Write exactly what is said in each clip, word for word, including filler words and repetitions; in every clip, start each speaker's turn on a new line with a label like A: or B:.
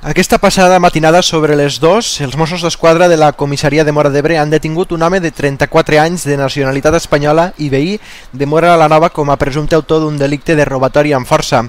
A: Aquesta passada matinada sobre les dues, els Mossos d'Esquadra de la comissaria de Móra d'Ebre han detingut un home de trenta-quatre anys de nacionalitat espanyola i veí de Móra la Nova com a presumpte autor d'un delicte de robatori amb força.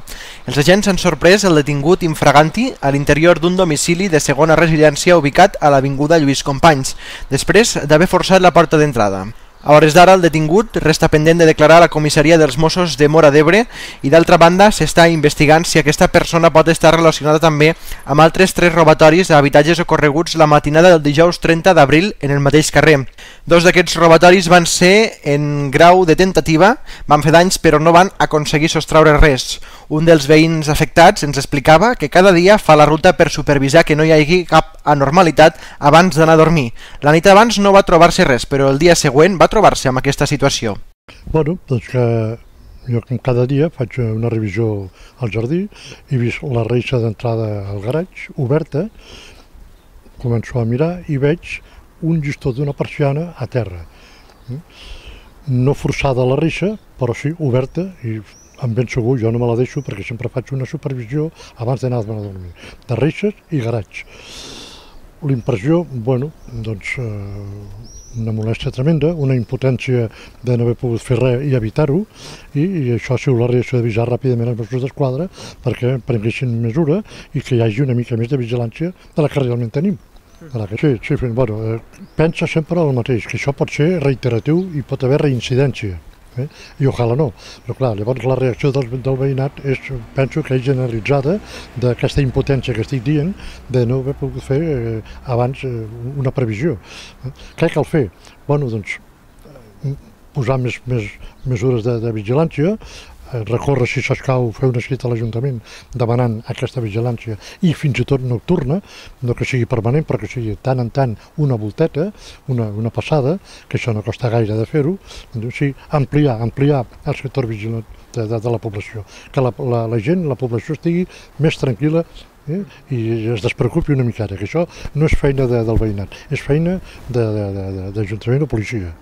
A: Els agents han sorprès el detingut infraganti a l'interior d'un domicili de segona residència ubicat a l'avinguda Lluís Companys, després d'haver forçat la porta d'entrada. A hores d'ara, el detingut resta pendent de declarar a la comissaria dels Mossos de Móra d'Ebre i, d'altra banda, s'està investigant si aquesta persona pot estar relacionada també amb altres tres robatoris a habitatges ocorreguts la matinada del dijous trenta d'abril en el mateix carrer. Dos d'aquests robatoris van ser en grau de tentativa, van fer danys però no van aconseguir sostraure res. Un dels veïns afectats ens explicava que cada dia fa la ruta per supervisar que no hi hagi cap anormalitat abans d'anar a dormir. La nit abans no va trobar-se res, però el dia següent va trobar-se amb aquesta situació.
B: Bueno, doncs que jo com cada dia faig una revisió al jardí, he vist la reixa d'entrada al garatge oberta, començo a mirar i veig un llistó d'una persiana a terra. No forçada la reixa, però sí oberta, i em ben segur, jo no me la deixo perquè sempre faig una supervisió abans d'anar a dormir, de reixes i garatge. L'impressió, bueno, doncs eh, una molèstia tremenda, una impotència de no haver pogut fer res i evitar-ho, i, i això ha sigut la reacció d'avisar ràpidament els Mossos d'Esquadra perquè prenguessin mesura i que hi hagi una mica més de vigilància de la que realment tenim. Sí, sí, bueno, eh, pensa sempre el mateix, que això pot ser reiteratiu i pot haver reincidència. Eh? I ojalà no, però clar, llavors la reacció del, del veïnat és, penso que és generalitzada d'aquesta impotència que estic dient de no haver pogut fer eh, abans eh, una previsió. Eh? Què cal fer? Bueno, doncs, posar més, més mesures de, de vigilància, eh, recórrer si s'escau, fer una escrita a l'Ajuntament demanant aquesta vigilància i fins i tot nocturna, no que sigui permanent, però que sigui tant en tant una volteta, una, una passada, que això no costa gaire de fer-ho, sí, ampliar, ampliar el sector vigilant de, de, de la població, que la, la, la gent, la població estigui més tranquil·la eh, i es despreocupi una miqueta, que això no és feina de, del veïnat, és feina d'Ajuntament de, de, de, o policia.